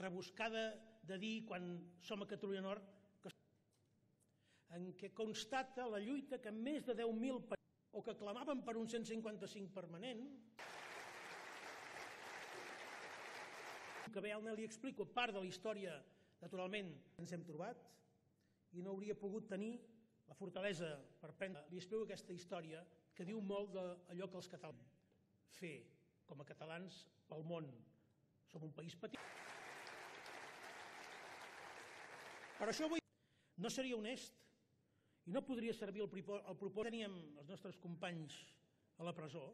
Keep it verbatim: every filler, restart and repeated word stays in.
rebuscada de dir quan som a Catalunya Nord, en què constata la lluita que més de deu mil o que clamaven per un cent cinquanta-cinc permanent, que realment li explico part de la història, naturalment, ens hem trobat i no hauria pogut tenir la fortalesa per prendre. Li explico aquesta història que diu molt d'allò que els catalans fer com a catalans pel món. Som un país petit. Per això avui no seria honest i no podria servir el propòsit. Teníem els nostres companys a la presó,